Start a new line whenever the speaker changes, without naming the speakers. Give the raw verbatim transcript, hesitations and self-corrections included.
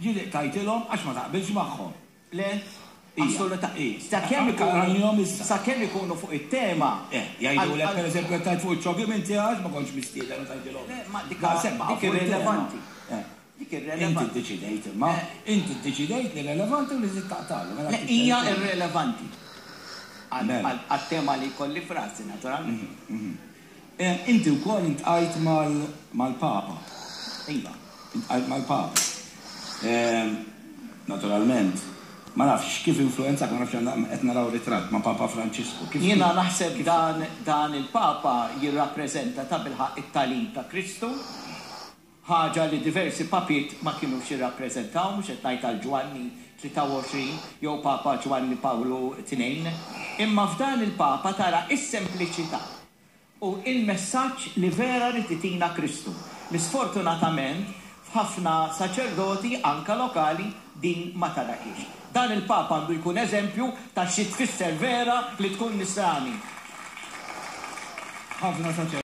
Ġieli tajtilhom għax ma taqbilx magħhom.
Le, assolutament. Sakemm
ikunu
sakemm ikunu fuq it-tema.
Eh, jgħidulek pereżempju tajt fuq iċ-ċogim inti għax ma kontx mistieden u tgħidilhom.
Le, ma dik dik irrilevanti. Dik irrelevanti.
Inti ddeċidejt imma, inti ddeċidejt li relevanti u li żid taqtalu.
Le, hija irrelevanti. Għat-tema li jkolli frasi, naturalment.
Inti wkoll intqajt mal-Papa.
Iva.
Intqajt mal-Papa. Naturalment, ma nafx kif influenzak, ma nafx qed naraw ritratt ma' Papa Franċisku.
Jiena naħseb dan dan il-Papa jirrappreżenta tabilħaqq it-tagħlim ta' Kristu, ħaġa li diversi papiet ma kinux jirrappreżentaw, mhux qed ngħid għal Ġwanni tlieta u għoxrin jew Papa Ġwanni Pawlu tnejn, imma f'dan il-Papa tara s-sempliċità u il-messaġġ li vera rid itina Kristu, li sfortunatament f'ħafna saċerdoti anka lokali din ma tarakiex. Dan il-Papa għandu jkun eżempju ta' xi tfisser vera li tkun nisrani.
Ħafna saċerdoti